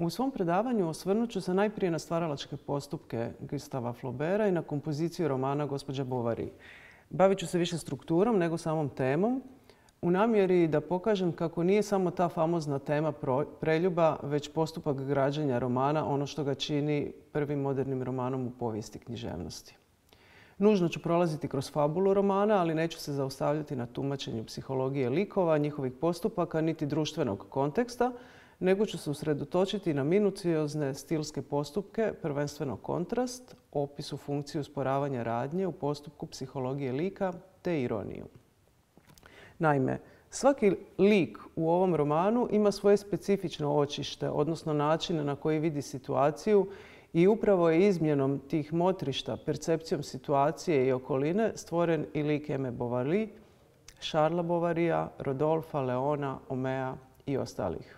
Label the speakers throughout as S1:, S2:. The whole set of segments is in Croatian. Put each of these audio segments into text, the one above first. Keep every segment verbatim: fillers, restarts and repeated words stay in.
S1: U svom predavanju osvrnut ću se najprije na stvaralačke postupke Gustava Flauberta i na kompoziciju romana Gospođa Bovary. Bavit ću se više strukturom nego samom temom, u namjeri da pokažem kako nije samo ta famozna tema preljuba, već postupak građenja romana ono što ga čini prvim modernim romanom u povijesti književnosti. Nužno ću prolaziti kroz fabulu romana, ali neću se zaustavljati na tumačenju psihologije likova, njihovih postupaka, niti društvenog konteksta, nego ću se usredotočiti na minuciozne stilske postupke, prvenstveno kontrast, opisu funkciju usporavanja radnje u postupku psihologije lika te ironiju. Naime, svaki lik u ovom romanu ima svoje specifično očište, odnosno način na koji vidi situaciju i upravo je izmjenom tih motrišta, percepcijom situacije i okoline stvoren i lik Eme Bovary, Charlesa Bovarya, Rodolfa, Leona, Omea i ostalih.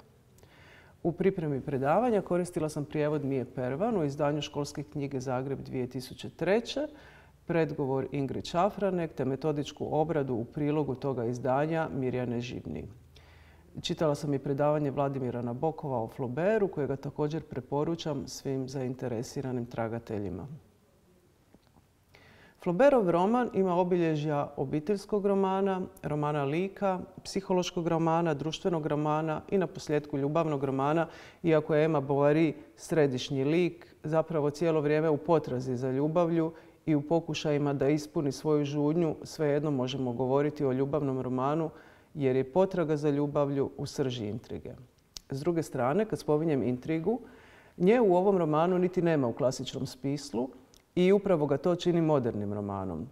S1: U pripremi predavanja koristila sam prijevod Mije Pervan u izdanju Školske knjige Zagreb dvije tisuće treće, predgovor Ingrid Šafranek te metodičku obradu u prilogu toga izdanja Mirjane Žibni. Čitala sam i predavanje Vladimira Nabokova o Flaubertu, kojega također preporučam svim zainteresiranim tragateljima. Flaubertov roman ima obilježja obiteljskog romana, romana lika, psihološkog romana, društvenog romana i naposljetku ljubavnog romana, iako je Ema Bovary središnji lik, zapravo cijelo vrijeme u potrazi za ljubavlju i u pokušajima da ispuni svoju žudnju, svejedno možemo govoriti o ljubavnom romanu jer je potraga za ljubavlju u srži intrige. S druge strane, kad spominjem intrigu, nje u ovom romanu niti nema u klasičnom smislu i upravo ga to čini modernim romanom.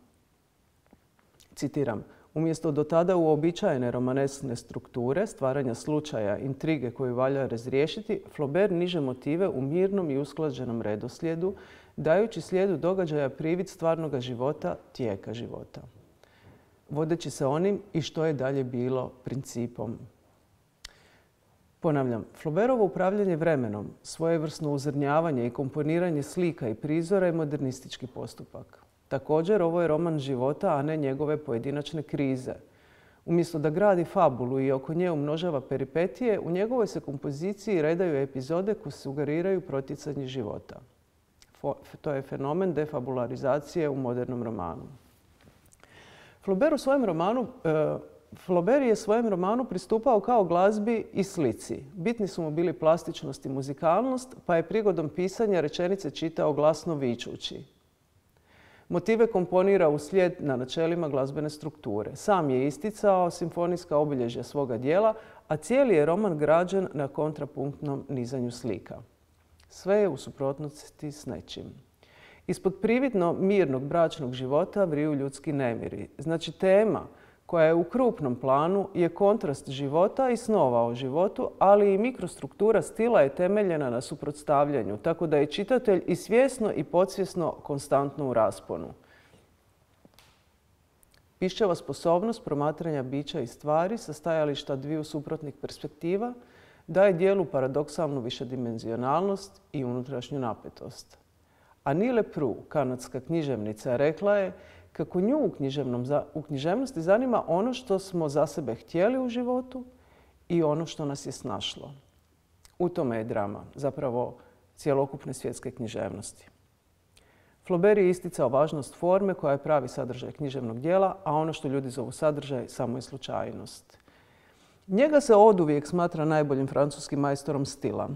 S1: Citiram, umjesto do tada uobičajene romaneskne strukture, stvaranja slučaja, intrige koju valja razriješiti, Flaubert niže motive u mirnom i usklađenom redoslijedu, dajući slijedu događaja privid stvarnoga života, tijeka života. Vodeći se onim i što je dalje bilo principom. Ponavljam, Flaubertovo upravljanje vremenom, svojevrsno uzrnjavanje i komponiranje slika i prizora je modernistički postupak. Također, ovo je roman života, a ne njegove pojedinačne krize. Umjesto da gradi fabulu i oko nje umnožava peripetije, u njegovoj se kompoziciji redaju epizode koje sugeriraju protjecanje života. To je fenomen defabularizacije u modernom romanu. Flaubert u svojem romanu Flaubert je svojem romanu pristupao kao glazbi i slici. Bitni su mu bili plastičnost i muzikalnost, pa je prigodom pisanja rečenice čitao glasno vičući. Motive komponira uslijed na načelima glazbene strukture. Sam je isticao simfonijska obilježja svoga dijela, a cijeli je roman građen na kontrapunktnom nizanju slika. Sve je u suprotnosti s nečim. Ispod prividno mirnog bračnog života vriju ljudski nemiri. Znači tema koja je u krupnom planu je kontrast života i snova o životu, ali i mikrostruktura stila je temeljena na suprotstavljanju, tako da je čitatelj i svjesno i podsvjesno konstantno u rasponu. Pišćeva sposobnost promatranja bića i stvari sa stajališta dviju suprotnih perspektiva daje dijelu paradoksalnu višedimenzionalnost i unutrašnju napetost. Annie Lepru, kanadska književnica, rekla je kako nju u, u književnosti zanima ono što smo za sebe htjeli u životu i ono što nas je snašlo. U tome je drama, zapravo cjelokupne svjetske književnosti. Flaubert je isticao važnost forme koja je pravi sadržaj književnog djela, a ono što ljudi zovu sadržaj samo je slučajnost. Njega se oduvijek smatra najboljim francuskim majstorom stila.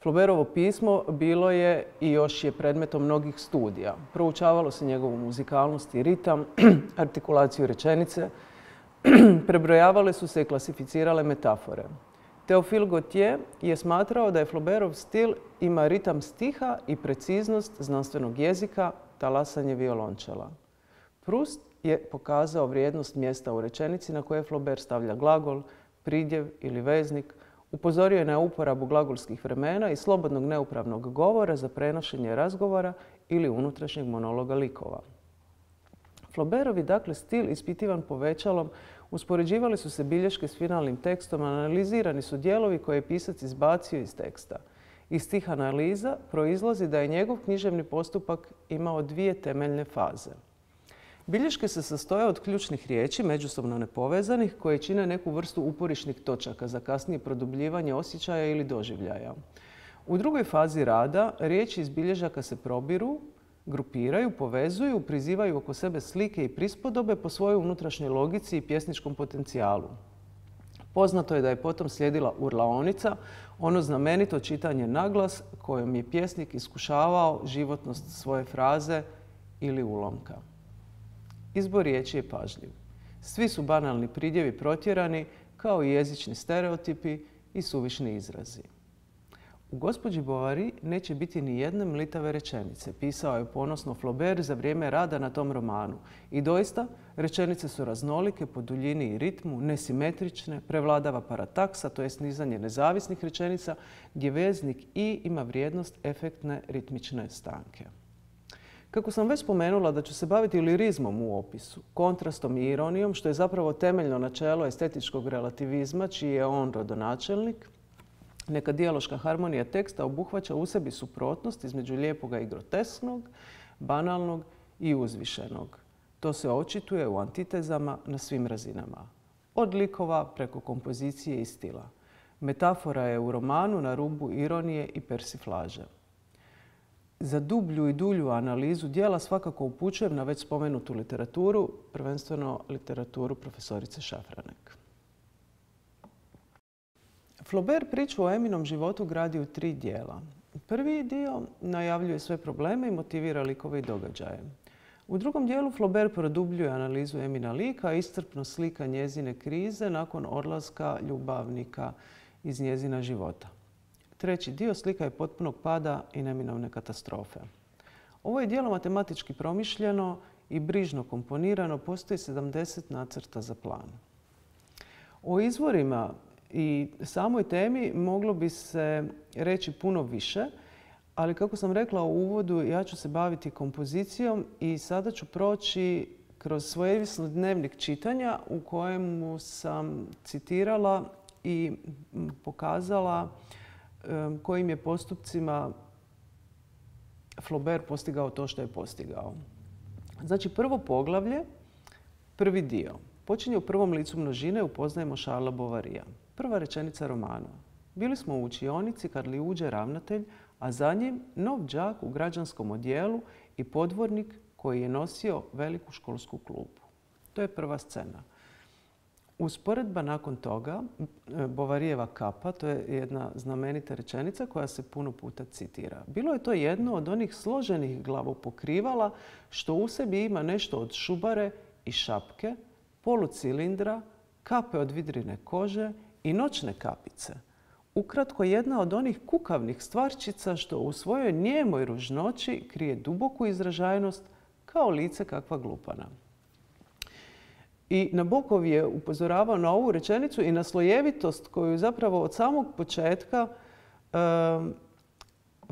S1: Flaubertovo pismo bilo je i još je predmetom mnogih studija. Proučavalo se njegovu muzikalnost i ritam, artikulaciju rečenice, prebrojavale su se i klasificirale metafore. Théophile Gautier je smatrao da je Flaubertov stil ima ritam stiha i preciznost znanstvenog jezika, talasanje violončela. Proust je pokazao vrijednost mjesta u rečenici na koje Flaubert stavlja glagol, pridjev ili veznik, upozorio je na uporabu glagolskih vremena i slobodnog neupravnog govora za prenošenje razgovora ili unutrašnjeg monologa likova. Flaubertovi, dakle, stil ispitivan povećalom, uspoređivali su se bilješke s finalnim tekstom, analizirani su dijelovi koje je pisac izbacio iz teksta. Iz tih analiza proizlazi da je njegov književni postupak imao dvije temeljne faze. Bilješke se sastoje od ključnih riječi, međusobno nepovezanih, koje čine neku vrstu uporišnih točaka za kasnije produbljivanje osjećaja ili doživljaja. U drugoj fazi rada riječi iz bilježaka se probiru, grupiraju, povezuju, prizivaju oko sebe slike i prispodobe po svojoj unutrašnjoj logici i pjesničkom potencijalu. Poznato je da je potom slijedila urlaonica, ono znamenito čitanje naglas kojom je pjesnik iskušavao životnost svoje fraze ili ulomka. Izbor riječi je pažljiv. Svi su banalni pridjevi protjerani kao i jezični stereotipi i suvišni izrazi. U gospođi Bovary neće biti ni jedne mlitave rečenice, pisao je ponosno Flaubert za vrijeme rada na tom romanu. I doista, rečenice su raznolike po duljini i ritmu, nesimetrične, prevladava parataksa, to jest nizanje nezavisnih rečenica, gdje veznik i ima vrijednost efektne ritmične stanke. Kako sam već spomenula da ću se baviti lirizmom u opisu, kontrastom i ironijom, što je zapravo temeljno načelo estetičkog relativizma, čiji je on rodonačelnik, neka dijaloška harmonija teksta obuhvaća u sebi suprotnost između lijepoga i grotesknog, banalnog i uzvišenog. To se očituje u antitezama na svim razinama. Od likova preko kompozicije i stila. Metafora je u romanu na rubu ironije i persiflaže. Za dublju i dulju analizu djela svakako upućujem na već spomenutu literaturu, prvenstveno literaturu profesorice Šafranek. Flaubert priču o Eminom životu gradi u tri dijela. Prvi dio najavljuje sve probleme i motivira likove i događaje. U drugom dijelu Flaubert produbljuje analizu Emina lika, iscrpno slika njezine krize nakon odlaska ljubavnika iz njezina života. Treći dio slika je potpunog pada i neminovne katastrofe. Ovo je djelo matematički promišljeno i brižno komponirano, postoji sedamdeset nacrta za plan. O izvorima i samoj temi moglo bi se reći puno više, ali kako sam rekla u uvodu, ja ću se baviti kompozicijom i sada ću proći kroz svojevrsni dnevnik čitanja u kojemu sam citirala i pokazala kojim je postupcima Flaubert postigao to što je postigao. Znači, prvo poglavlje, prvi dio. Počinje u prvom licu množine, upoznajemo Charlesa Bovarya. Prva rečenica romana. Bili smo u učionici kad li uđe ravnatelj, a za njim nov đak u građanskom odjelu i podvornik koji je nosio veliku školsku klupu. To je prva scena. Usporedba nakon toga, Bovaryjeva kapa, to je jedna znamenita rečenica koja se puno puta citira. Bilo je to jedno od onih složenih glavopokrivala što u sebi ima nešto od šubare i šapke, polucilindra, kape od vidrine kože i noćne kapice. Ukratko, jedna od onih kukavnih stvarčica što u svojoj nijemoj ružnoći krije duboku izražajnost kao lice kakva glupana. I Nabokov je upozoravao na ovu rečenicu i na slojevitost koju zapravo od samog početka e,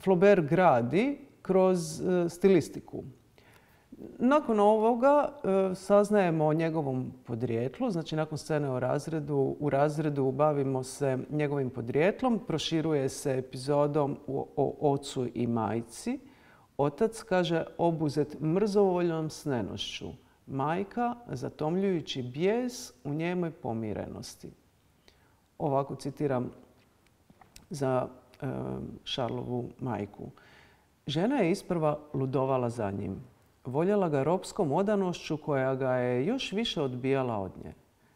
S1: Flaubert gradi kroz e, stilistiku. Nakon ovoga e, saznajemo o njegovom podrijetlu, znači nakon scene o razredu, u razredu bavimo se njegovim podrijetlom, proširuje se epizodom o, o ocu i majci. Otac, kaže, obuzet mrzovoljnom snenošću. Majka, zatomljujući bijes u njemoj pomirenosti. Ovako citiram za e, Charlesovu majku. Žena je isprva ludovala za njim. Voljela ga ropskom odanošću koja ga je još više odbijala od nje.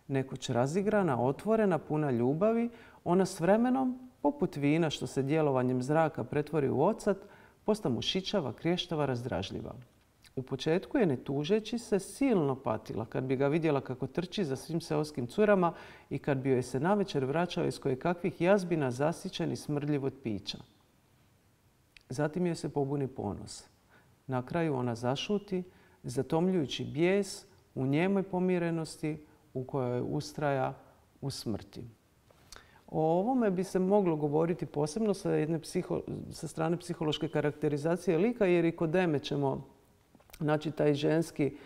S1: Nekoć razigrana, otvorena, puna ljubavi, ona s vremenom, poput vina što se djelovanjem zraka pretvori u ocat, posta mu šičava, krještava, razdražljiva. U početku je, ne tužeći se, silno patila kad bi ga vidjela kako trči za svim seoskim curama i kad bi joj se navečer vraćao iz kojekakvih jazbina zasićen i smrdljiv od pića. Zatim joj se pobuni ponos. Na kraju ona zašuti, zatomljujući bijes u njemoj pomirenosti u kojoj ustraja u smrti. O ovome bi se moglo govoriti posebno sa, jedne psiho, sa strane psihološke karakterizacije lika, jer i kod Eme ćemo naći taj ženski,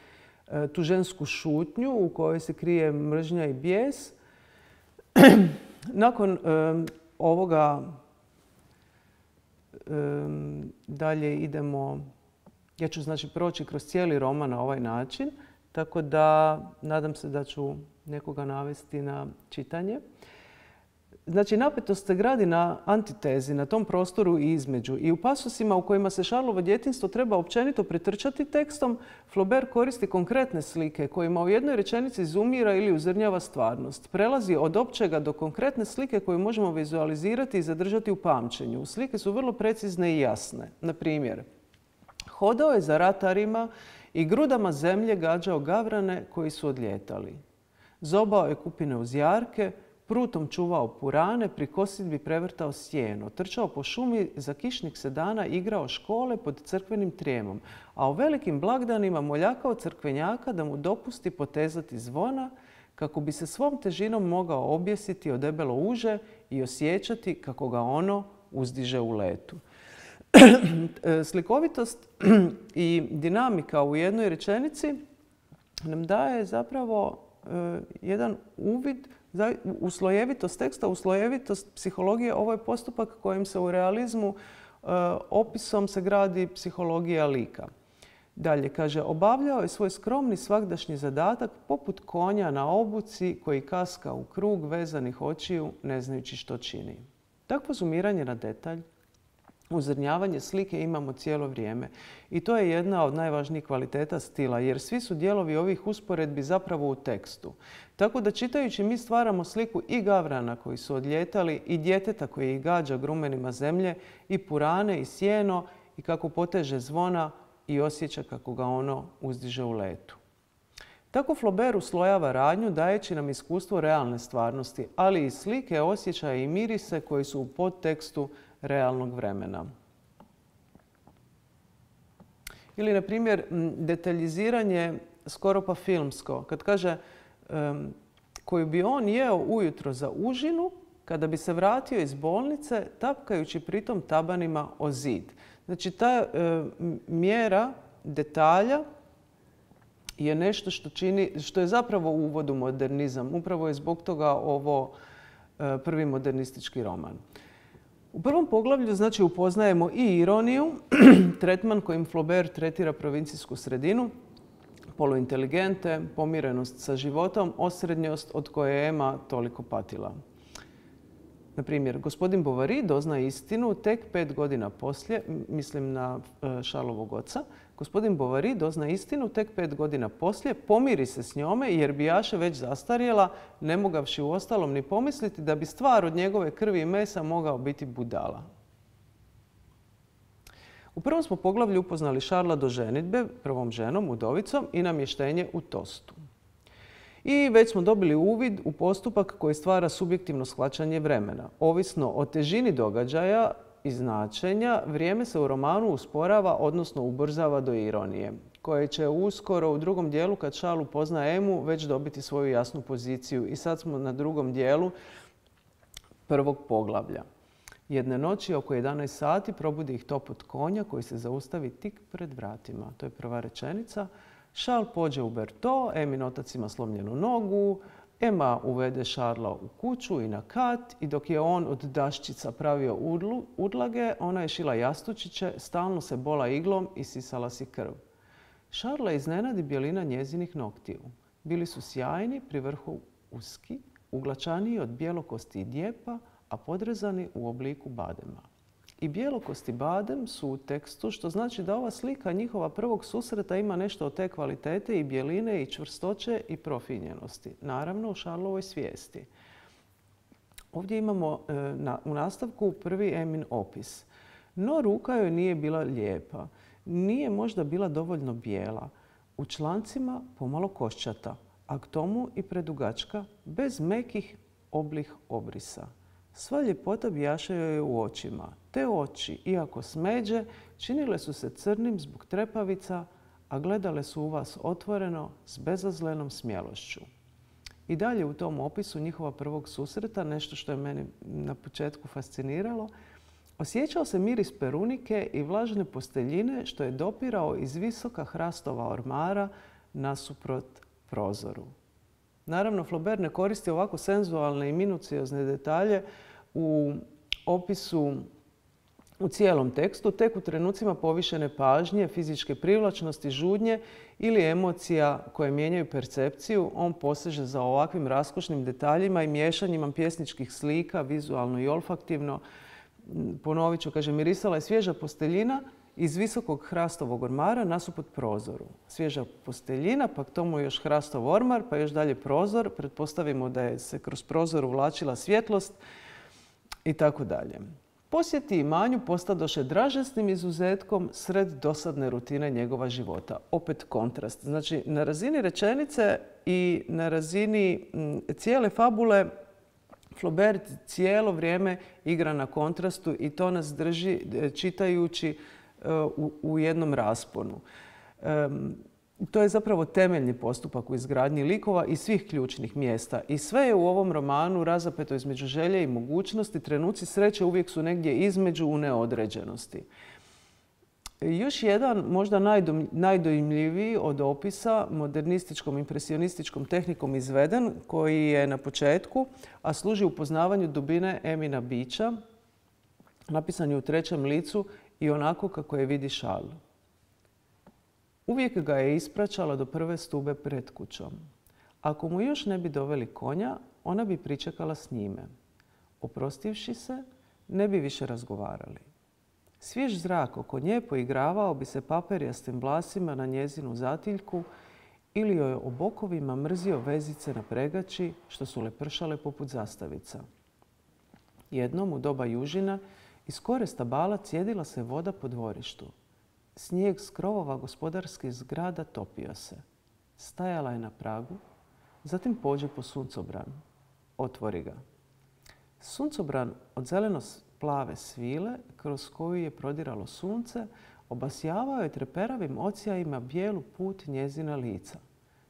S1: tu žensku šutnju u kojoj se krije mržnja i bijes. Nakon um, ovoga um, dalje idemo, ja ću znači proći kroz cijeli roman na ovaj način tako da nadam se da ću nekoga navesti na čitanje. Znači, napetost se gradi na antitezi, na tom prostoru i između. I u pasosima u kojima se Charlesovo djetinjstvo treba općenito pretrčati tekstom, Flaubert koristi konkretne slike kojima u jednoj rečenici izumira ili uzrnjava stvarnost. Prelazi od općega do konkretne slike koju možemo vizualizirati i zadržati u pamćenju. Slike su vrlo precizne i jasne. Na primjer, hodao je za ratarima i grudama zemlje gađao gavrane koji su odljetali. Zobao je kupine uz jarke, prutom čuvao purane, pri kosidbi prevrtao sjeno, trčao po šumi, za kišnih sedana igrao škole pod crkvenim trijemom, a u velikim blagdanima moljakao crkvenjaka da mu dopusti potezati zvona kako bi se svom težinom mogao objesiti o debelo uže i osjećati kako ga ono uzdiže u letu. Slikovitost i dinamika u jednoj rečenici nam daje zapravo jedan uvid u slojevitost teksta, u slojevitost psihologije. Ovo je postupak kojim se u realizmu opisom se gradi psihologija lika. Dalje, kaže, obavljao je svoj skromni svagdašnji zadatak poput konja na obuci koji kaska u krug vezanih očiju ne znajući što čini. Takvo zoomiranje na detalj, uzrnjavanje slike imamo cijelo vrijeme. I to je jedna od najvažnijih kvaliteta stila, jer svi su dijelovi ovih usporedbi zapravo u tekstu. Tako da čitajući mi stvaramo sliku i gavrana koji su odljetali i djeteta koji ih gađa grumenima zemlje i purane i sjeno i kako poteže zvona i osjeća kako ga ono uzdiže u letu. Tako Flaubert uslojava radnju dajeći nam iskustvo realne stvarnosti, ali i slike, osjećaje i mirise koji su u podtekstu realnog vremena. Ili, na primjer, detaljiziranje skoro pa filmsko. Kad kaže um, koju bi on jeo ujutro za užinu kada bi se vratio iz bolnice tapkajući pritom tabanima o zid. Znači, ta um, mjera detalja je nešto što čini, što je zapravo uvod u modernizam. Upravo je zbog toga ovo uh, prvi modernistički roman. U prvom poglavlju, znači, upoznajemo i ironiju, tretman kojim Flaubert tretira provincijsku sredinu, poluinteligente, pomirenost sa životom, osrednjost od koje je Emma toliko patila. Na primjer, gospodin Bovary dozna istinu tek pet godina poslije, mislim na Charlesovog oca, gospodin Bovary dozna istinu tek pet godina poslije, pomiri se s njome jer bijaše već zastarjela, ne mogavši u ostalom ni pomisliti da bi stvar od njegove krvi i mesa mogao biti budala. U prvom smo poglavlju upoznali Charlesa do ženidbe, prvom ženom, udovicom i namještenje u Tostu. I već smo dobili uvid u postupak koji stvara subjektivno shvaćanje vremena. Ovisno o težini događaja i značenja, vrijeme se u romanu usporava, odnosno ubrzava do ironije, koje će uskoro u drugom dijelu, kad Charles upozna Emu, već dobiti svoju jasnu poziciju. I sad smo na drugom dijelu prvog poglavlja. Jedne noći oko jedanaest sati probudi ih topot konja koji se zaustavi tik pred vratima. To je prva rečenica. Charles pođe u Berto, Emin otac ima slomljenu nogu, Emma uvede Charlesa u kuću i na kat i dok je on od daščica pravio udlage, ona je šila jastučiće, stalno se bola iglom i sisala si krv. Charlesa iznenadi bjelina njezinih noktiju. Bili su sjajni, pri vrhu uski, uglačaniji od bijelokosti i djepa, a podrezani u obliku badema. I bijelokosti badem su u tekstu, što znači da ova slika njihova prvog susreta ima nešto od te kvalitete i bjeline i čvrstoće i profinjenosti. Naravno, u Charlesovoj svijesti. Ovdje imamo e, na, u nastavku prvi Emin opis. No ruka joj nije bila lijepa. Nije možda bila dovoljno bijela. U člancima pomalo koščata, a k tomu i predugačka, bez mekih oblih obrisa. Sva ljepota bijaše joj u očima. Te oči, iako smeđe, činile su se crnim zbog trepavica, a gledale su u vas otvoreno s bezazlenom smjelošću. I dalje u tom opisu njihova prvog susreta, nešto što je meni na početku fasciniralo, osjećao se miris perunike i vlažne posteljine što je dopirao iz visoka hrastova ormara nasuprot prozoru. Naravno, Flaubert ne koristi ovako senzualne i minuciozne detalje u opisu u cijelom tekstu, tek u trenucima povišene pažnje, fizičke privlačnosti, žudnje ili emocija koje mijenjaju percepciju, on poseže za ovakvim raskošnim detaljima i miješanjima pjesničkih slika, vizualno i olfaktivno. Ponovit ću, kaže, mirisala je svježa posteljina iz visokog hrastovog ormara nasuprot prozoru. Svježa posteljina, pa k tomu još hrastov ormar, pa još dalje prozor. Pretpostavimo da je se kroz prozor uvlačila svjetlost i tako dalje. Posjeti imanju postadoše dražesnim izuzetkom sred dosadne rutine njegova života. Opet kontrast. Znači, na razini rečenice i na razini cijele fabule Flaubert cijelo vrijeme igra na kontrastu i to nas drži čitajući u, u jednom rasponu. Um, To je zapravo temeljni postupak u izgradnji likova i svih ključnih mjesta. I sve je u ovom romanu razapeto između želje i mogućnosti. Trenuci sreće uvijek su negdje između u neodređenosti. Još jedan, možda najdojmljiviji od opisa, modernističkom, impresionističkom tehnikom izveden, koji je na početku, a služi upoznavanju dubine Emina bića, napisan je u trećem licu i onako kako je vidi Charles. Uvijek ga je ispraćala do prve stube pred kućom. Ako mu još ne bi doveli konja, ona bi pričekala s njime. Oprostivši se, ne bi više razgovarali. Svjež zrak oko nje poigravao bi se paperjastim vlasima na njezinu zatiljku ili joj o bokovima mrzio vezice na pregači što su lepršale poput zastavica. Jednom u doba južina iz kore stabala cijedila se voda po dvorištu. Snijeg s krovova gospodarskih zgrada topio se. Stajala je na pragu, zatim pođe po suncobran. Otvori ga. Suncobran od zeleno-plave svile kroz koju je prodiralo sunce obasjavao je treperavim ocijajima bijelu put njezina lica.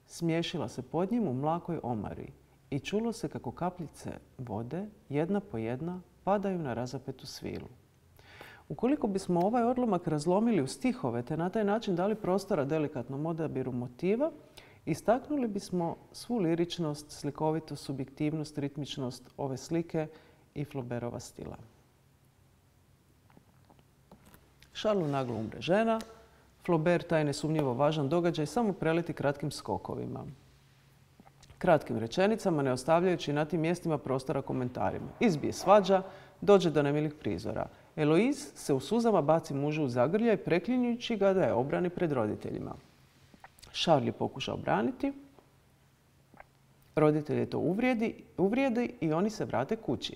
S1: Smiješila se pod njim u mlakoj omari i čulo se kako kapljice vode, jedna po jedna, padaju na razapetu svilu. Ukoliko bismo ovaj odlomak razlomili u stihove te na taj način dali prostora delikatnom odabiru motiva, istaknuli bismo svu liričnost, slikovitost, subjektivnost, ritmičnost ove slike i Flaubertova stila. Charlesu naglo umre žena. Flaubert taj nesumnjivo važan događaj samo preleti kratkim skokovima. Kratkim rečenicama, ne ostavljajući na tim mjestima prostora komentarima. Izbije svađa, dođe do nemilih prizora. Eloise se u suzama baci mužu u zagrljaj, preklinjući ga da je obrani pred roditeljima. Charles je pokušao braniti. Roditelje to uvrijedi, uvrijedi i oni se vrate kući.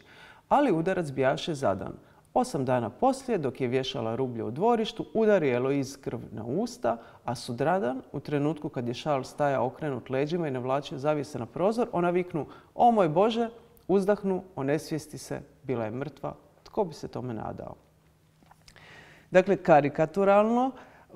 S1: Ali udarac bijaše zadan. Osam dana poslije, dok je vješala rublje u dvorištu, udari Eloise krv na usta, a sutradan, u trenutku kad je Charles stajao okrenut leđima i navlačio zavjese na prozor, ona viknu: "O moj Bože!", uzdahnu, onesvijesti se, bila je mrtva. Tko bi se tome nadao? Dakle, karikaturalno,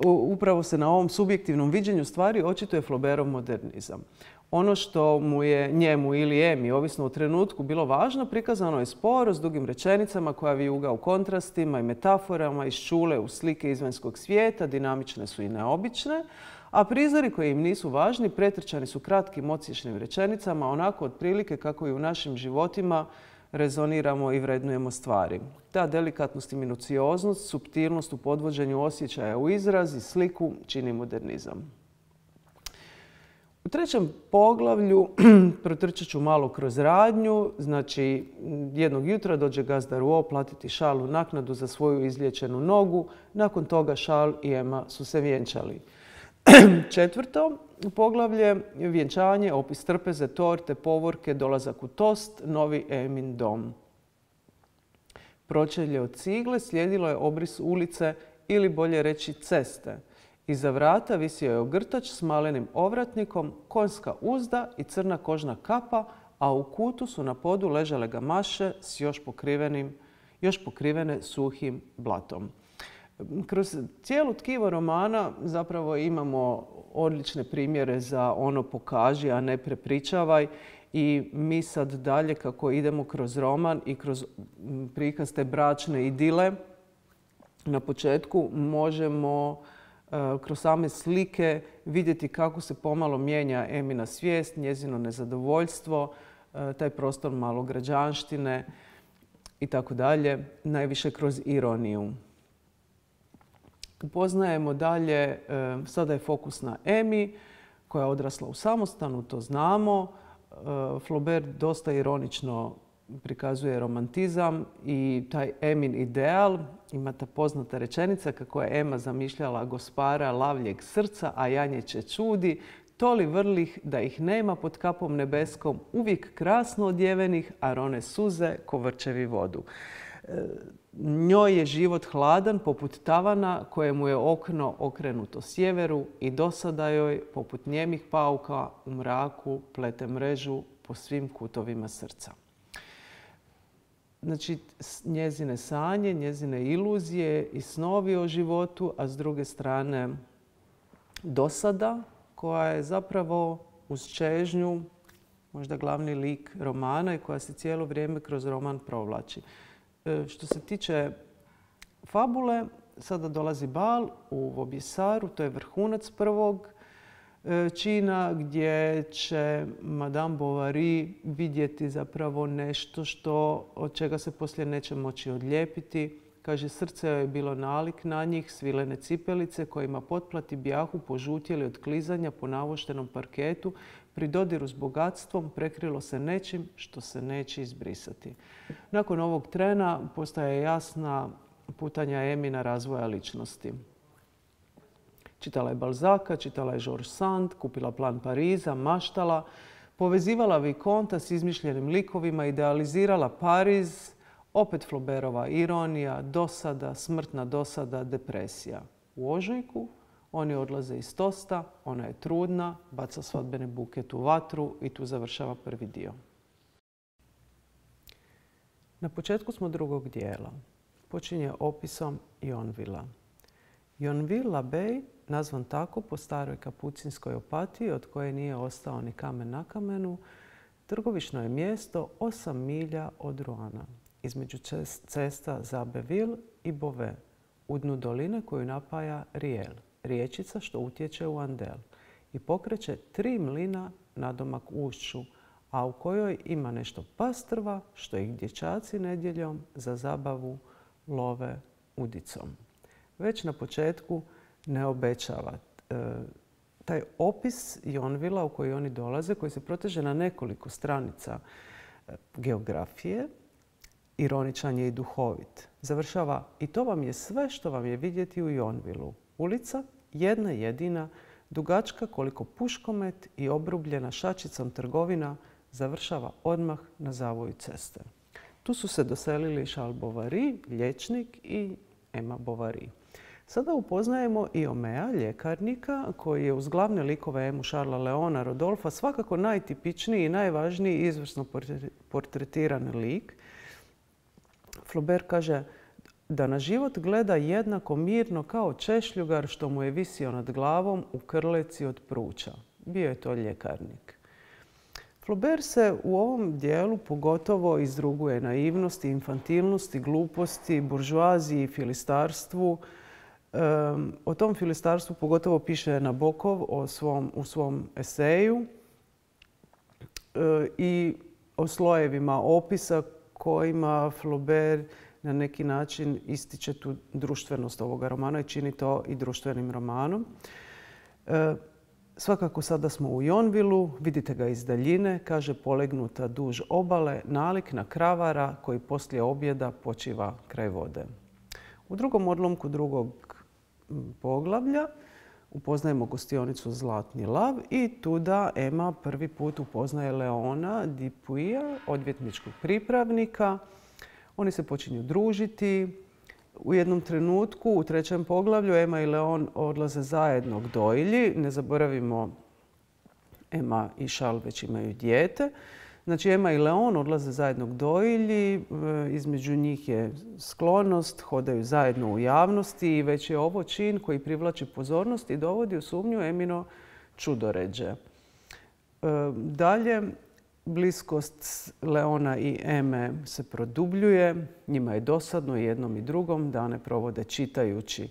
S1: upravo se na ovom subjektivnom viđenju stvari očituje Flaubertov modernizam. Ono što mu je njemu ili Emi, ovisno o trenutku, bilo važno, prikazano je sporo, s dugim rečenicama koja vijuga u kontrastima i metaforama, iščule u slike izvanjskog svijeta, dinamične su i neobične, a prizori koji im nisu važni pretrčani su kratkim odsječnim rečenicama, onako otprilike kako i u našim životima rezoniramo i vrednujemo stvari. Ta delikatnost i minucioznost, suptilnost u podvođenju osjećaja u izraz i sliku čini modernizam. U trećem poglavlju protrčat ću malo kroz radnju. Znači, jednog jutra dođe gazda Rouault platiti Charlesu naknadu za svoju izliječenu nogu. Nakon toga Charles i Emma su se vjenčali. Četvrto poglavlje, vjenčanje, opis trpeze, torte, povorke, dolazak u tost, novi Emin dom. Pročelje od cigle, slijedilo je obris ulice ili bolje reći ceste. Iza vrata visio je ogrtač s malenim ovratnikom, konjska uzda i crna kožna kapa, a u kutu su na podu ležale gamaše s još, pokrivenim, još pokrivene suhim blatom. Kroz cijelu tkivo romana zapravo imamo odlične primjere za ono pokaži, a ne prepričavaj. I mi sad dalje kako idemo kroz roman i kroz prikaz te bračne idile, na početku možemo kroz same slike vidjeti kako se pomalo mijenja Emina svijest, njezino nezadovoljstvo, taj prostor malograđanštine. i tako dalje, najviše kroz ironiju. Upoznajemo dalje, sada je fokus na Emi, koja je odrasla u samostanu, to znamo. Flaubert dosta ironično prikazuje romantizam i taj Emin ideal. Ima ta poznata rečenica kako je Ema zamišljala gospara lavljeg srca, a janjeće čudi, toli vrlih da ih nema pod kapom nebeskom, uvijek krasno odjevenih, a rone suze ko vrčevi vodu. Njoj je život hladan poput tavana kojemu je okno okrenuto sjeveru i dosada joj, poput njemih pauka, u mraku plete mrežu po svim kutovima srca. Znači, njezine sanje, njezine iluzije i snovi o životu, a s druge strane dosada koja je zapravo uz čežnju možda glavni lik romana i koja se cijelo vrijeme kroz roman provlači. Što se tiče fabule, sada dolazi bal u Vaubyessaru, to je vrhunac prvog čina gdje će Madame Bovary vidjeti zapravo nešto što, od čega se poslije neće moći odlijepiti. Kaže, srce joj je bilo nalik na njih, svilene cipelice kojima potplati bjahu požutjeli od klizanja po navoštenom parketu, pri dodiru s bogatstvom prekrilo se nečim što se neće izbrisati. Nakon ovog trena postaje jasna putanja Emina razvoja ličnosti. Čitala je Balzaka, čitala je George Sand, kupila plan Pariza, maštala, povezivala Vikonta s izmišljenim likovima, idealizirala Pariz, opet Flaubertova ironija, dosada, smrtna dosada, depresija. U ožujku oni odlaze iz Tosta, ona je trudna, baca svadbeni buket u vatru i tu završava prvi dio. Na početku smo drugog dijela. Počinje opisom Yonvilla. Yonville-l'Abbaye, nazvan tako po staroj kapucinskoj opatiji od koje nije ostao ni kamen na kamenu, trgovišno je mjesto osam milja od Roana, između cesta za Abbeville i Beauvais, u dnu doline koju napaja Riel, riječica što utječe u Andel i pokreće tri mlina nadomak ušću, a u kojoj ima nešto pastrva što ih dječaci nedjeljom za zabavu love udicom. Već na početku ne obećava. E, taj opis Yonvilla u koji oni dolaze, koji se proteže na nekoliko stranica geografije, ironičan je i duhovit. Završava, i to vam je sve što vam je vidjeti u Yonvillu. Ulica, jedna jedina, dugačka koliko puškomet i obrubljena šačicom trgovina, završava odmah na zavoju ceste. Tu su se doselili Charles Bovary, liječnik, i Emma Bovary. Sada upoznajemo i Omea, ljekarnika, koji je uz glavne likove Emu, Charlesa, Leona, Rodolfa svakako najtipičniji i najvažniji izvrsno portretiran lik. Flaubert kaže da na život gleda jednako mirno kao češljugar što mu je visio nad glavom u krleci od pruća. Bio je to ljekarnik. Flaubert se u ovom dijelu pogotovo izruguje naivnosti, infantilnosti, gluposti, buržoaziji i filistarstvu. Um, o tom filistarstvu pogotovo piše Nabokov o svom, u svom eseju uh, i o slojevima opisa kojima Flaubert na neki način ističe tu društvenost ovoga romana i čini to i društvenim romanom. E, svakako sada smo u Yonvillu, vidite ga iz daljine, kaže polegnuta duž obale, nalik na kravara koji poslije objeda počiva kraj vode. U drugom odlomku drugog poglavlja upoznajemo gostionicu Zlatni lav i tuda Emma prvi put upoznaje Leona Dupuya, odvjetničkog pripravnika. Oni se počinju družiti. U jednom trenutku, u trećem poglavlju, Emma i Leon odlaze zajedno k dojilji. Ne zaboravimo, Emma i Charles već imaju dijete. Znači, Emma i Leon odlaze zajedno k dojilji. Između njih je sklonost, hodaju zajedno u javnosti i već je ovo čin koji privlači pozornost i dovodi u sumnju Emino čudoređe. Dalje, bliskost Leona i Eme se produbljuje. Njima je dosadno jednom i drugom. Dane provode čitajući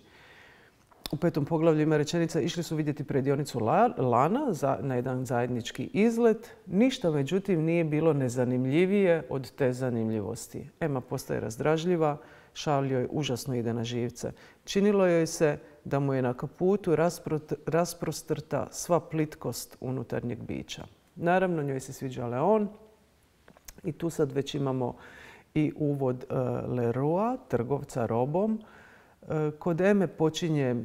S1: u petom poglavlju ima rečenica išli su vidjeti predionicu lana na jedan zajednički izlet. Ništa međutim nije bilo nezanimljivije od te zanimljivosti. Emma postaje razdražljiva, Charles joj užasno ide na živce. Činilo joj se da mu je na kaputu rasprostrta sva plitkost unutarnjeg bića. Naravno, njoj se sviđa Leon i tu sad već imamo i uvod Leroya, trgovca robom. Kod Eme počinje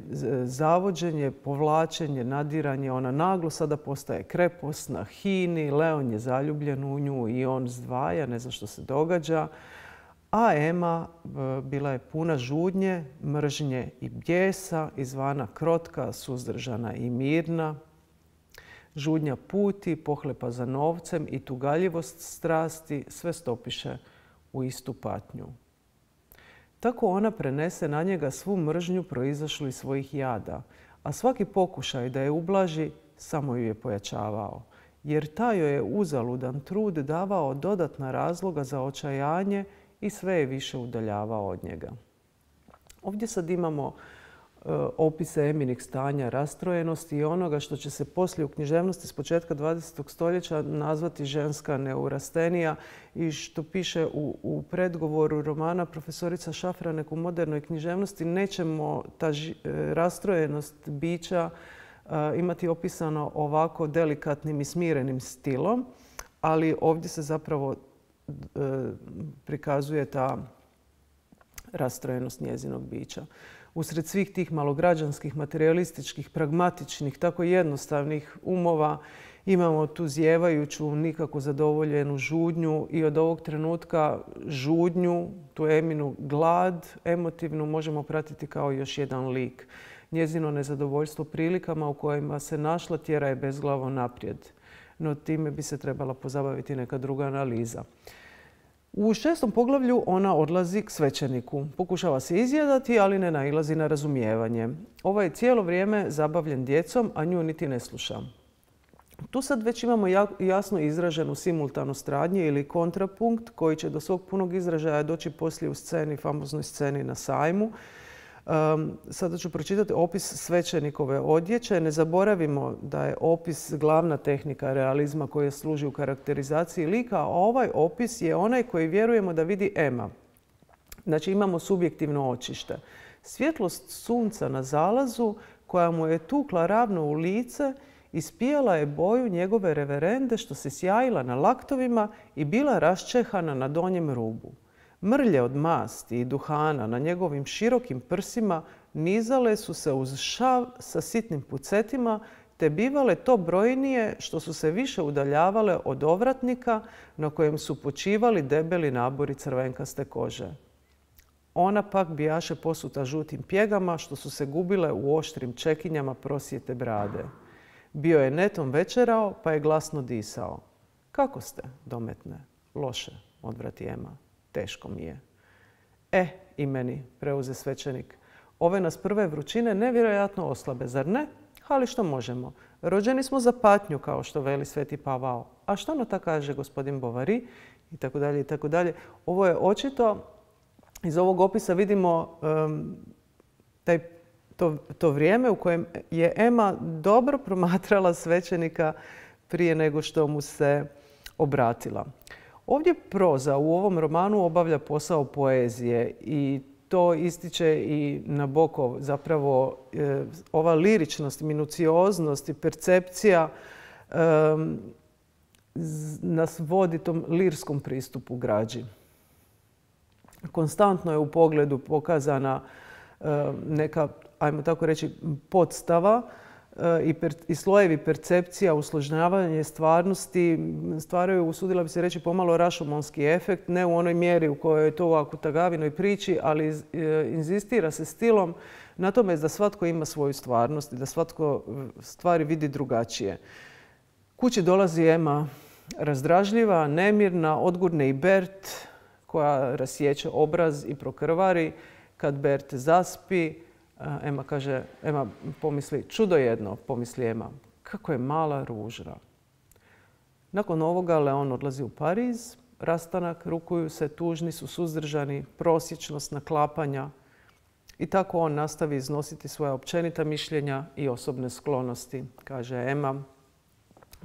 S1: zavođenje, povlačenje, nadiranje. Ona naglo sada postaje kreposna, hini. Leon je zaljubljen u nju i on zdvaja, ne zna što se događa. A Emma bila je puna žudnje, mržnje i bijesa, izvana krotka, suzdržana i mirna. Žudnja puti, pohlepa za novcem i tugaljivost strasti sve stopiše u istu patnju. Tako ona prenese na njega svu mržnju proizašlu iz svojih jada, a svaki pokušaj da je ublaži samo ju je pojačavao, jer taj joj je uzaludan trud davao dodatna razloga za očajanje i sve je više udaljavao od njega. Ovdje sad imamo opise Eminih stanja rastrojenosti i onoga što će se poslije u književnosti s početka dvadesetog stoljeća nazvati ženska neurastenija i što piše u, u predgovoru romana profesorica Šafranek u modernoj književnosti. Nećemo ta ži, rastrojenost bića uh, imati opisano ovako delikatnim i smirenim stilom, ali ovdje se zapravo uh, prikazuje ta rastrojenost njezinog bića. Usred svih tih malograđanskih, materialističkih, pragmatičnih, tako jednostavnih umova imamo tu zjevajuću, nikako zadovoljenu žudnju i od ovog trenutka žudnju, tu Eminu glad emotivnu možemo pratiti kao još jedan lik. Njezino nezadovoljstvo prilikama u kojima se našla tjera je bezglavo naprijed. No time bi se trebala pozabaviti neka druga analiza. U šestom poglavlju ona odlazi k svećeniku. Pokušava se izjedati, ali ne nailazi na razumijevanje. Ovaj je cijelo vrijeme zabavljen djecom, a nju niti ne sluša. Tu sad već imamo jasno izraženu simultanost radnje ili kontrapunkt koji će do svog punog izražaja doći poslije u sceni, famoznoj sceni na sajmu. Um, sada ću pročitati opis svećenikove odjeće. Ne zaboravimo da je opis glavna tehnika realizma koja služi u karakterizaciji lika, a ovaj opis je onaj koji vjerujemo da vidi Emma. Znači imamo subjektivno očište. Svjetlost sunca na zalazu koja mu je tukla ravno u lice ispijala je boju njegove reverende što se sjajila na laktovima i bila raščehana na donjem rubu. Mrlje od masti i duhana na njegovim širokim prsima nizale su se uz šav sa sitnim pucetima te bivale to brojnije što su se više udaljavale od ovratnika na kojem su počivali debeli nabori crvenkaste kože. Ona pak bijaše posuta žutim pjegama što su se gubile u oštrim čekinjama prosjete brade. Bio je netom večerao pa je glasno disao. Kako ste, dometne? Loše, odvrati Emma. Teško mi je. E, i meni, preuze svećenik. Ove nas prve vrućine nevjerojatno oslabe, zar ne? Ali što možemo? Rođeni smo za patnju, kao što veli Sveti Pavao. A što na to kaže gospodin Bovary? I tako dalje, i tako dalje. Ovo je očito, iz ovog opisa vidimo um, taj, to, to vrijeme u kojem je Emma dobro promatrala svećenika prije nego što mu se obratila. Ovdje proza u ovom romanu obavlja posao poezije i to ističe i Nabokov. Zapravo e, ova liričnost, minucioznost i percepcija e, nas vodi tom lirskom pristupu građi. Konstantno je u pogledu pokazana e, neka, ajmo tako reći, podstava I, per, i slojevi percepcija, usložnjavanje stvarnosti stvaraju, usudila bi se reći, pomalo rašomonski efekt, ne u onoj mjeri u kojoj je to u Akutagavinoj priči, ali iz, e, inzistira se stilom na tome da svatko ima svoju stvarnost i da svatko stvari vidi drugačije. Kući dolazi Emma razdražljiva, nemirna, odgurne i Bert koja rasječe obraz i prokrvari. Kad Bert zaspi, Emma kaže, Emma pomisli, čudo jedno, pomisli Emma, kako je mala ruža. Nakon ovoga Leon odlazi u Pariz, rastanak, rukuju se, tužni su, suzdržani, prosječnost naklapanja. I tako on nastavi iznositi svoja općenita mišljenja i osobne sklonosti. Kaže Ema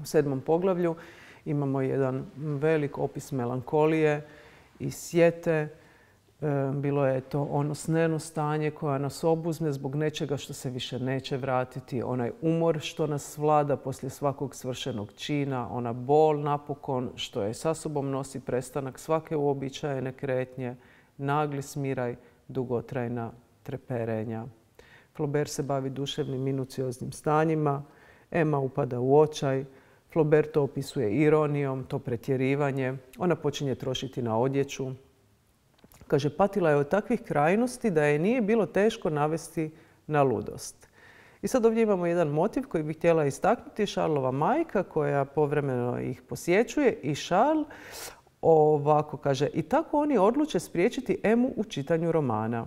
S1: u sedmom poglavlju imamo jedan velik opis melankolije i sjete. Bilo je to ono sneno stanje koja nas obuzme zbog nečega što se više neće vratiti. Onaj umor što nas vlada poslije svakog svršenog čina. Ona bol napokon što je sa sobom nosi prestanak svake uobičajene kretnje. Nagli smiraj, dugotrajna treperenja. Flaubert se bavi duševnim minucioznim stanjima. Ema upada u očaj. Flaubert to opisuje ironijom, to pretjerivanje. Ona počinje trošiti na odjeću. Kaže, patila je od takvih krajnosti da je nije bilo teško navesti na ludost. I sad ovdje imamo jedan motiv koji bih htjela istaknuti. Charlova majka koja povremeno ih posjećuje i Charles ovako kaže, i tako oni odluče spriječiti Emu u čitanju romana.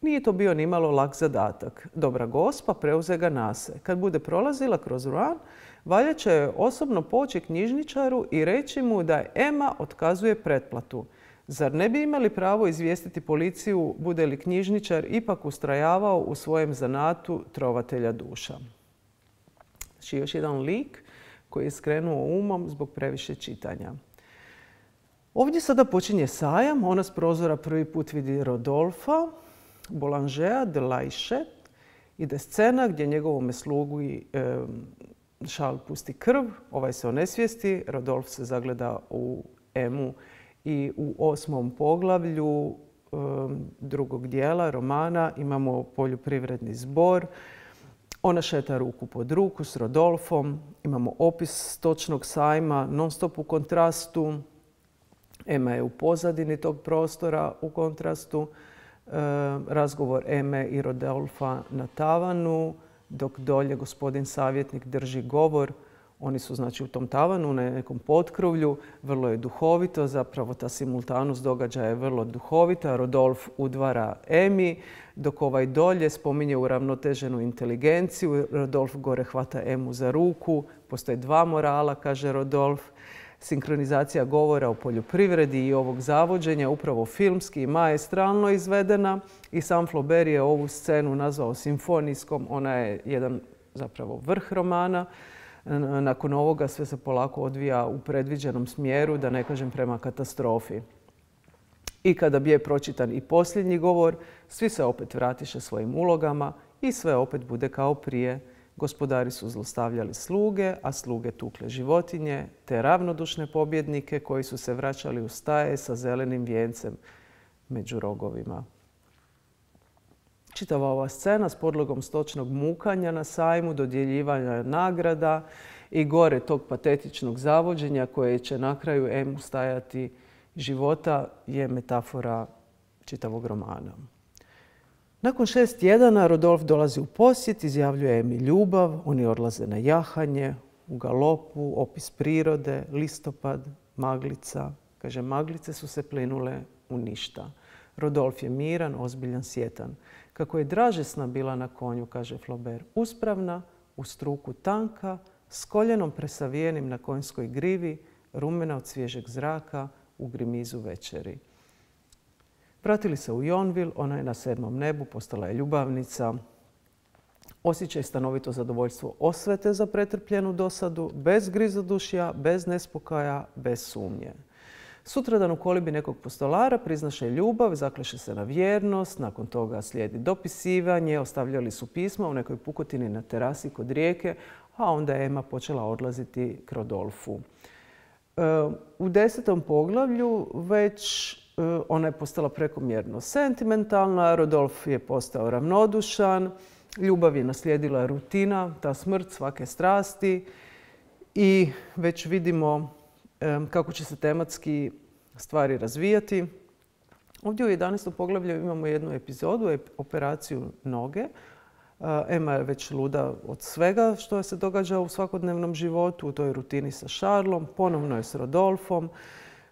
S1: Nije to bio nimalo lak zadatak. Dobra gospa preuze ga nase. Kad bude prolazila kroz roman, valja će joj osobno poći knjižničaru i reći mu da Ema otkazuje pretplatu. Zar ne bi imali pravo izvijestiti policiju bude li knjižničar ipak ustrajavao u svojem zanatu trovatelja duša? Znači još jedan lik koji je skrenuo umom zbog previše čitanja. Ovdje sada počinje sajam. Ona s prozora prvi put vidi Rodolfa, Boulangera de Laiche. Ide scena gdje njegovome slugu e, Charles pusti krv. Ovaj se onesvijesti. Rodolf se zagleda u Emu. I u osmom poglavlju e, drugog dijela romana imamo poljoprivredni zbor. Ona šeta ruku pod ruku s Rodolfom. Imamo opis stočnog sajma non stop u kontrastu. Ema je u pozadini tog prostora u kontrastu. E, razgovor Eme i Rodolfa na tavanu, dok dolje gospodin savjetnik drži govor. Oni su znači u tom tavanu, na nekom potkrovlju. Vrlo je duhovito, zapravo ta simultanost događaja je vrlo duhovita. Rodolf udvara Emi, dok ovaj dolje spominje uravnoteženu inteligenciju. Rodolf gore hvata Emu za ruku. Postoje dva morala, kaže Rodolf. Sinkronizacija govora o poljoprivredi i ovog zavođenja upravo filmski i maestralno izvedena. I sam Flaubert je ovu scenu nazvao simfonijskom. Ona je jedan zapravo vrh romana. Nakon ovoga sve se polako odvija u predviđenom smjeru, da ne kažem prema katastrofi. I kada bi je pročitan i posljednji govor, svi se opet vratiše svojim ulogama i sve opet bude kao prije. Gospodari su zlostavljali sluge, a sluge tukle životinje, te ravnodušne pobjednike koji su se vraćali u staje sa zelenim vijencem među rogovima. Čitava ova scena s podlogom stočnog mukanja na sajmu, dodjeljivanja nagrada i gore tog patetičnog zavođenja koje će na kraju Emu stajati života je metafora čitavog romana. Nakon šest tjedana Rodolf dolazi u posjet, izjavljuje Emi ljubav, oni odlaze na jahanje, u galopu, opis prirode, listopad, maglica. Kaže, maglice su se plinule u ništa. Rodolf je miran, ozbiljan, sjetan. Kako je dražesna bila na konju, kaže Flaubert, uspravna, u struku tanka, s koljenom presavijenim na konjskoj grivi, rumena od svježeg zraka, u grimizu večeri. Vratili se u Yonville, ona je na sedmom nebu, postala je ljubavnica. Osjećaj stanovito zadovoljstvo osvete za pretrpljenu dosadu, bez grizodušja, bez nespokaja, bez sumnje. Sutradan u kolibi nekog postolara priznaše ljubav, zakleše se na vjernost, nakon toga slijedi dopisivanje, ostavljali su pisma u nekoj pukotini na terasi kod rijeke, a onda je Ema počela odlaziti k Rodolfu. U desetom poglavlju već ona je postala prekomjerno sentimentalna, Rodolf je postao ravnodušan, ljubav je naslijedila rutina, ta smrt svake strasti i već vidimo kako će se tematski stvari razvijati. Ovdje u jedanaestom poglavlju imamo jednu epizodu, operaciju noge. Ema je već luda od svega što se događa u svakodnevnom životu, u toj rutini sa Charlesom, ponovno je s Rodolfom.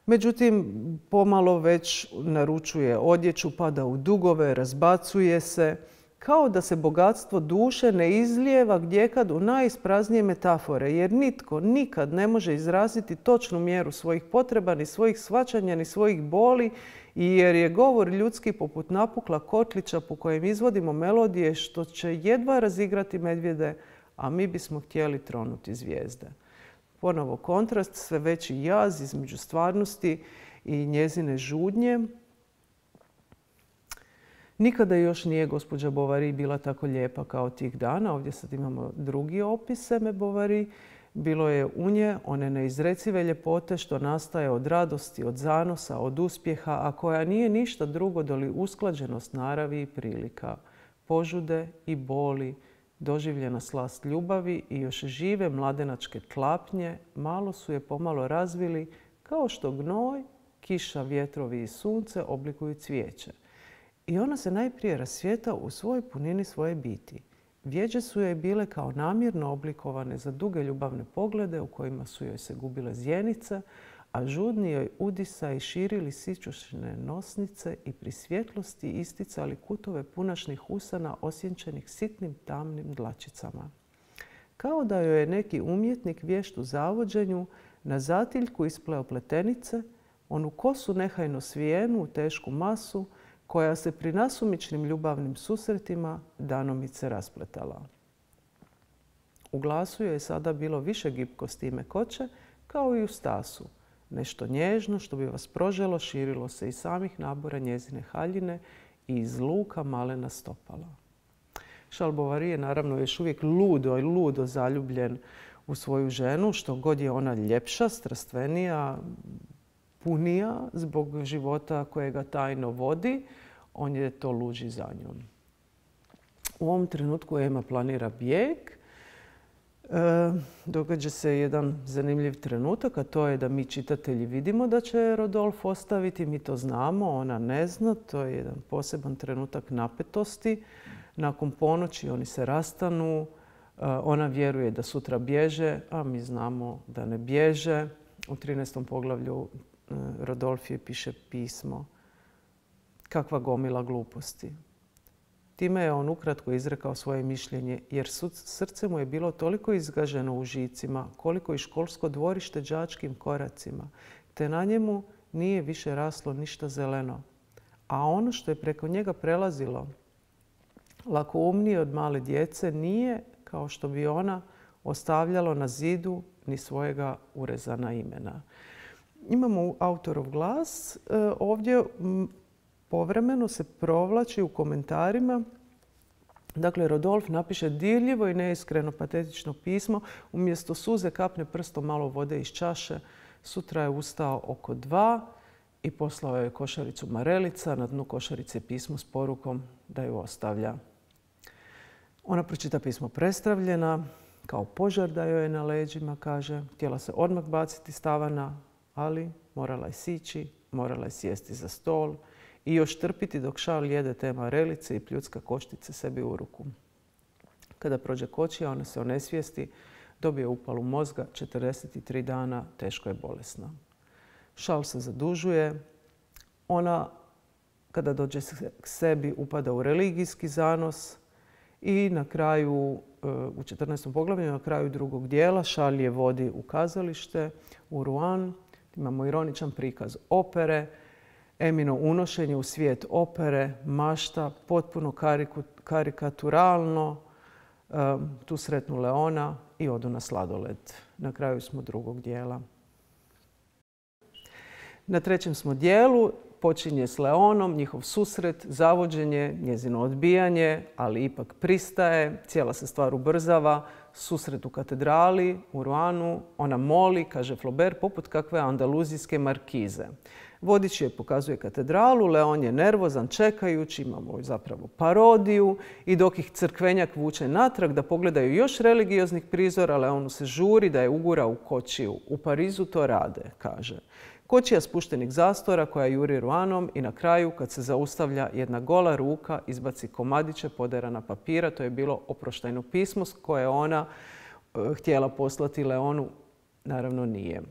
S1: Međutim, pomalo već naručuje odjeću, pada u dugove, razbacuje se. Kao da se bogatstvo duše ne izlijeva gdjekad u najispraznije metafore, jer nitko nikad ne može izraziti točnu mjeru svojih potreba, ni svojih shvaćanja, ni svojih boli I jer je govor ljudski poput napukla kotlića po kojem izvodimo melodije što će jedva razigrati medvjede, a mi bismo htjeli tronuti zvijezde. Ponovo kontrast, sve veći jaz između stvarnosti i njezine žudnje. Nikada još nije gospođa Bovary bila tako lijepa kao tih dana. Ovdje sad imamo drugi opis Eme Bovary. Bilo je u nje one neizrecive ljepote što nastaje od radosti, od zanosa, od uspjeha, a koja nije ništa drugo doli usklađenost naravi i prilika, požude i boli, doživljena slast ljubavi i još žive mladenačke tlapnje malo su je pomalo razvili kao što gnoj, kiša, vjetrovi i sunce oblikuju cvijeće. I ona se najprije rasvjeta u svojoj punini svoje biti. Vjeđe su joj bile kao namjerno oblikovane za duge ljubavne poglede u kojima su joj se gubile zjenice, a žudni joj udisaj širili sićušne nosnice i pri svjetlosti isticali kutove punašnih usana osjenčenih sitnim tamnim dlačicama. Kao da joj je neki umjetnik vješt u zavođenju na zatiljku ispleo pletenice, onu kosu nehajno svijenu u tešku masu, koja se pri nasumičnim ljubavnim susretima danomice raspletala. U glasu joj je sada bilo više gibkosti i mekoće, kao i u stasu. Nešto nježno što bi vas proželo širilo se iz samih nabora njezine haljine i iz luka malena stopala. Charles Bovary je naravno još uvijek ludo i ludo zaljubljen u svoju ženu, što god je ona ljepša, strastvenija, punija zbog života kojega tajno vodi, on je to luđi za njom. U ovom trenutku Ema planira bijeg. E, događa se jedan zanimljiv trenutak, a to je da mi čitatelji vidimo da će Rodolf ostaviti. Mi to znamo, ona ne zna. To je jedan poseban trenutak napetosti. Nakon ponoći oni se rastanu. E, ona vjeruje da sutra bježe, a mi znamo da ne bježe. U trinaestom poglavlju e, Rodolf je piše pismo. Kakva gomila gluposti. Time je on ukratko izrekao svoje mišljenje, jer srce mu je bilo toliko izgaženo u žicima, koliko i školsko dvorište đačkim koracima, te na njemu nije više raslo ništa zeleno. A ono što je preko njega prelazilo, lakoumnije od male djece, nije, kao što bi ona, ostavljalo na zidu ni svojega urezana imena. Imamo autorov glas. Ovdje povremeno se provlači u komentarima. Dakle, Rodolf napiše dirljivo i neiskreno patetično pismo. Umjesto suze kapne prstom malo vode iz čaše. Sutra je ustao oko dva i poslao je košaricu marelica. Na dnu košarice pismo s porukom da ju ostavlja. Ona pročita pismo prestravljena, kao požar da joj je na leđima, kaže. Htjela se odmah baciti s tavana, ali morala je sići, morala je sjesti za stol i još trpiti dok Charles jede te marelice i pljucka koštice sebi u ruku. Kada prođe kočija, ona se onesvijesti, dobije upalu mozga, četrdeset tri dana, teško je bolesna. Charles se zadužuje. Ona, kada dođe k sebi, upada u religijski zanos i na kraju, u četrnaestom poglavlju, na kraju drugog dijela, Charles je vodi u kazalište, u Rouen. Imamo ironičan prikaz opere, Emino unošenje u svijet opere, mašta, potpuno karikaturalno. Tu sretnu Leona i odu na sladoled. Na kraju smo drugog dijela. Na trećem smo dijelu. Počinje s Leonom, njihov susret, zavođenje, njezino odbijanje, ali ipak pristaje. Cijela se stvar ubrzava. Susret u katedrali, u Rounu. Ona moli, kaže Flaubert, poput kakve andaluzijske markize. Vodič je pokazuje katedralu, Leon je nervozan čekajući, imamo zapravo parodiju i dok ih crkvenjak vuče natrag da pogledaju još religioznih prizora, Leonu se žuri da je ugura u kočiju. U Parizu to rade, kaže. Kočija spuštenih zastora koja juri Rouenom i na kraju kad se zaustavlja jedna gola ruka izbaci komadiće poderana papira. To je bilo oproštajno pismo koje ona htjela poslati Leonu, naravno nije.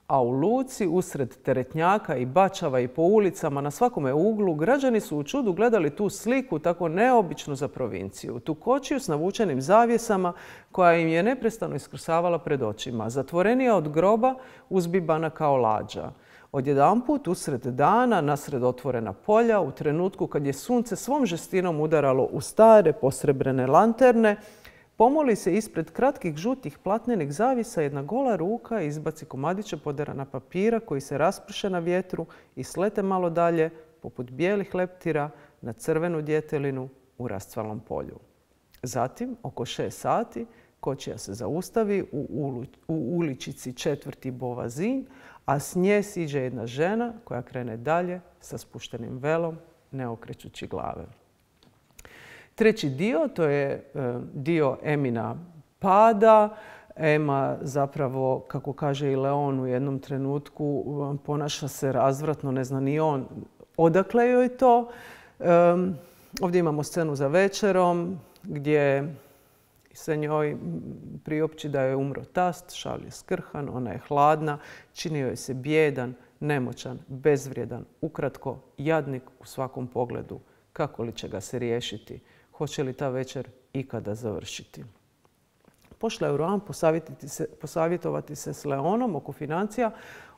S1: A u luci, usred teretnjaka i bačava i po ulicama, na svakome uglu, građani su u čudu gledali tu sliku tako neobičnu za provinciju. Tu kočiju s navučenim zavjesama koja im je neprestano iskrsavala pred očima. Zatvorenija od groba, uzbibana kao lađa. Odjedanput, usred dana, nasred otvorena polja, u trenutku kad je sunce svom žestinom udaralo u stare posrebrene lanterne, pomoli se ispred kratkih žutih platnenih zavisa jedna gola ruka i izbaci komadiće poderana papira koji se rasprše na vjetru i slete malo dalje, poput bijelih leptira, na crvenu djetelinu u rascvalom polju. Zatim, oko šest sati, kočija se zaustavi u uličici četvrti Bovazin, a s nje siđe jedna žena koja krene dalje sa spuštenim velom, ne okrećući glave. Treći dio, to je dio Emina pada. Ema zapravo, kako kaže i Leon u jednom trenutku, ponaša se razvratno, ne zna ni on odakle joj to. Ovdje imamo scenu za večerom gdje se njoj priopći da je umro tast, šal je skrhan, ona je hladna, čini joj se bijedan, nemoćan, bezvrijedan, ukratko jadnik u svakom pogledu. Kako li će ga se riješiti? Hoće li ta večer ikada završiti? Pošla je u Rouen posavjetovati se s Leonom oko financija.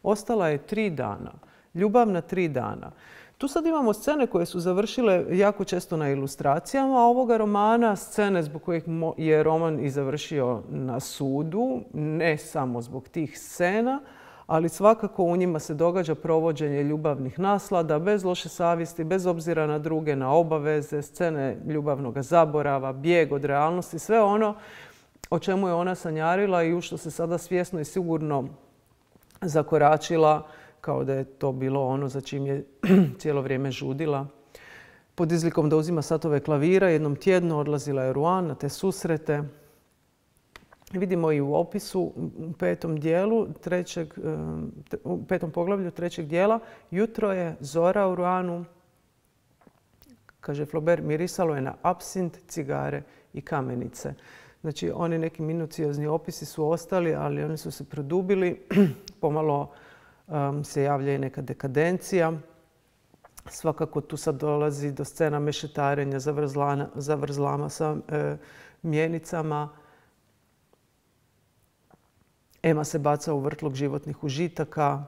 S1: Ostala je tri dana. Ljubavna tri dana. Tu sad imamo scene koje su završile jako često na ilustracijama ovoga romana, scene zbog kojih je roman i završio na sudu, ne samo zbog tih scena, ali svakako u njima se događa provođenje ljubavnih naslada, bez loše savjesti, bez obzira na druge, na obaveze, scene ljubavnog zaborava, bijeg od realnosti, sve ono o čemu je ona sanjarila i u što se sada svjesno i sigurno zakoračila, kao da je to bilo ono za čim je cijelo vrijeme žudila. Pod izlikom da uzima satove klavira, jednom tjedno odlazila je u Rouen na te susrete. Vidimo i u opisu u petom dijelu, trećeg, u petom poglavlju trećeg dijela, jutro je, zora u Rouenu. Kaže Flaubert, mirisalo je na apsint, cigare i kamenice. Znači, oni neki minuciozni opisi su ostali, ali oni su se produbili. Pomalo um, se javlja i neka dekadencija. Svakako tu sad dolazi do scena mešetarenja, zavrzlama sa e, mjenicama. Ema se baca u vrtlog životnih užitaka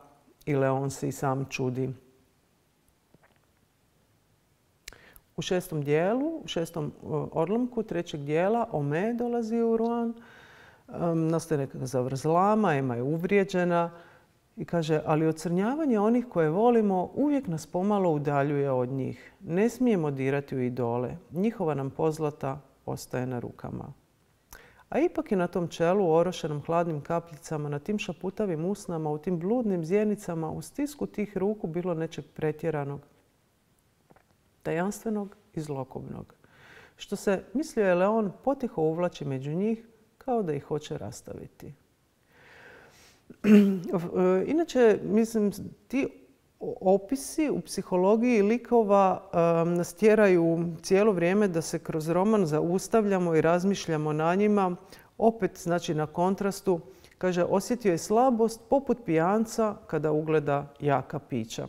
S1: i Leon se i sam čudi. U šestom dijelu, u šestom odlomku trećeg dijela, Ome dolazi u Rouen. Um, nastaje nekakva zavrzlama, Ema je uvrijeđena i kaže, ali ocrnjavanje onih koje volimo uvijek nas pomalo udaljuje od njih. Ne smijemo dirati u idole. Njihova nam pozlata ostaje na rukama. A ipak je na tom čelu, orošenom hladnim kapljicama, na tim šaputavim usnama, u tim bludnim zjenicama, u stisku tih ruku bilo nečeg pretjeranog, tajanstvenog i zlokobnog. Što se, mislio je Leon, potiho uvlači među njih kao da ih hoće rastaviti. Inače, mislim, ti opisi u psihologiji likova um, nas tjeraju cijelo vrijeme da se kroz roman zaustavljamo i razmišljamo na njima. Opet, znači na kontrastu, kaže, osjetio je slabost poput pijanca kada ugleda jaka pića.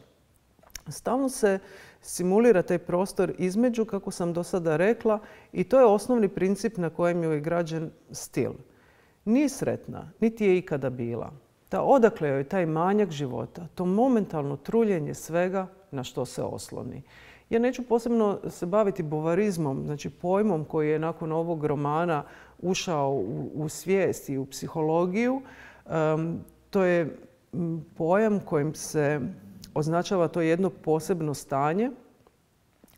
S1: Stalno se simulira taj prostor između, kako sam do sada rekla, i to je osnovni princip na kojem je građen stil. Nije sretna, niti je ikada bila. Da odakle joj taj manjak života, to momentalno truljenje svega na što se osloni. Ja neću posebno se baviti bovarizmom, znači pojmom koji je nakon ovog romana ušao u, u svijest i u psihologiju. Um, to je pojam kojim se označava to jedno posebno stanje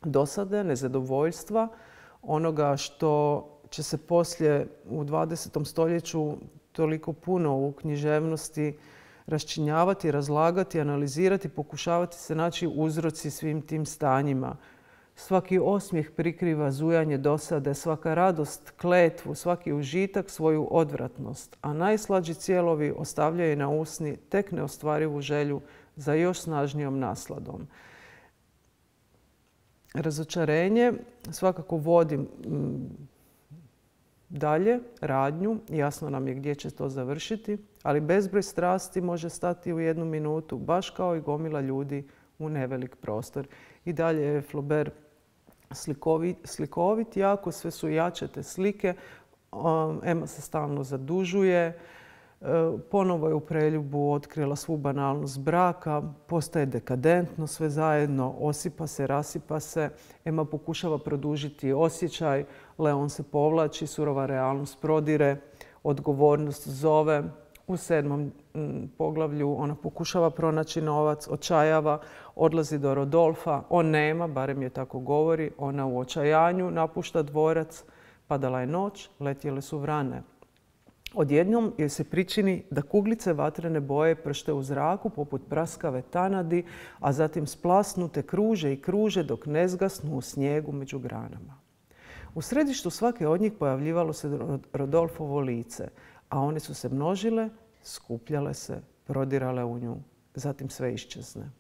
S1: dosade, nezadovoljstva, onoga što će se poslije u dvadesetom stoljeću toliko puno u književnosti raščinjavati, razlagati, analizirati, pokušavati se naći uzroci svim tim stanjima. Svaki osmijeh prikriva zujanje dosade, svaka radost kletvu, svaki užitak svoju odvratnost, a najslađi cijelovi ostavljaju na usni tek neostvarivu želju za još snažnijom nasladom. Razočarenje svakako vodi dalje radnju, jasno nam je gdje će to završiti, ali bezbroj strasti može stati u jednu minutu, baš kao i gomila ljudi u nevelik prostor. I dalje je Flaubert slikovit, slikovit jako, sve su jače te slike. Ema se stalno zadužuje, Ponovo je u preljubu otkrila svu banalnost braka, postaje dekadentno sve zajedno, osipa se, rasipa se. Emma pokušava produžiti osjećaj, Leon se povlači, surova realnost prodire, odgovornost zove. U sedmom poglavlju ona pokušava pronaći novac, očajava, odlazi do Rodolfa. On nema, barem je tako govori. Ona u očajanju napušta dvorac. Padala je noć, letjele su vrane. Odjednom joj se pričini da kuglice vatrene boje pršte u zraku poput praskave tanadi, a zatim splasnute kruže i kruže dok ne zgasnu u snijegu među granama. U središtu svake od njih pojavljivalo se Rodolfovo lice, a one su se množile, skupljale se, prodirale u nju. Zatim sve iščezne.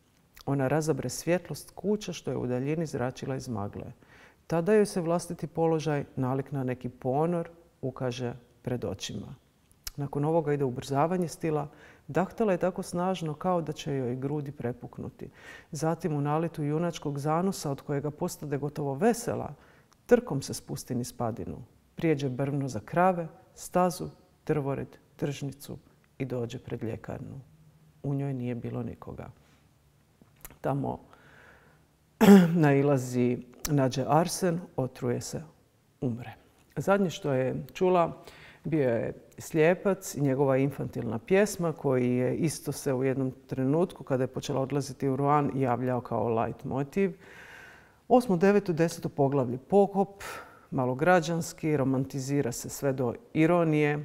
S1: Ona razabre svjetlost kuća što je u daljini zračila iz magle. Tada joj se vlastiti položaj, nalik na neki ponor, ukaže pred očima. Nakon ovoga ide ubrzavanje stila. Dahtala je tako snažno kao da će joj grudi prepuknuti. Zatim u naletu junačkog zanosa od kojega postade gotovo vesela, trkom se spusti niz padinu. Prijeđe brvno za krave, stazu, drvored, tržnicu i dođe pred ljekarnu. U njoj nije bilo nikoga. Tamo nailazi, nađe arsen, otruje se, umre. Zadnje što je čula bio je Slijepac i njegova infantilna pjesma koji je isto se u jednom trenutku kada je počela odlaziti u Ruan javljao kao light motiv. Osmo, deveto, deseto poglavlje pokop, malo građanski, romantizira se sve do ironije.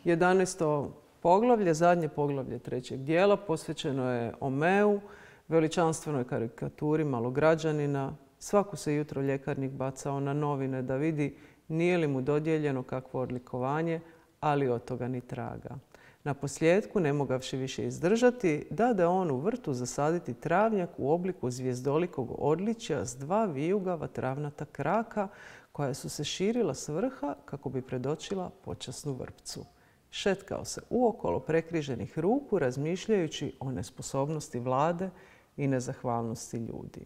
S1: Jedanaesto poglavlje, zadnje poglavlje trećeg dijela, posvećeno je Omeu, veličanstvenoj karikaturi malograđanina. Svako se jutro ljekarnik bacao na novine da vidi nije li mu dodijeljeno kakvo odlikovanje, ali od toga ni traga. Na posljedku, ne mogavši više izdržati, dade on u vrtu zasaditi travnjak u obliku zvijezdolikog odličja s dva vijugava travnata kraka koja su se širila s vrha kako bi predočila počasnu vrpcu. Šetkao se uokolo prekriženih ruku razmišljajući o nesposobnosti vlade i nezahvalnosti ljudi.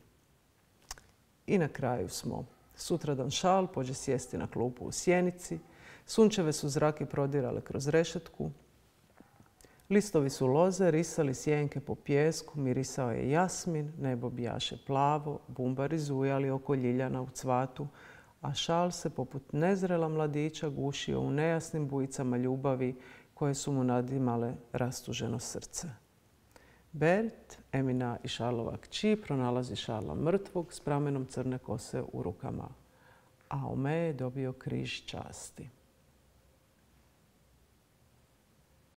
S1: I na kraju smo. Sutradan Šal pođe sjesti na klupu u sjenici. Sunčeve su zrake prodirale kroz rešetku. Listovi su loze, risali sjenke po pijesku, mirisao je jasmin, nebo bijaše plavo, bumbari zujali oko ljiljana u cvatu, a Šal se poput nezrela mladića gušio u nejasnim bujicama ljubavi koje su mu nadimale rastuženo srce. Bert, Emina i Šarlova kći, pronalazi Šarla mrtvog s pramenom crne kose u rukama, a Ome je dobio križ časti.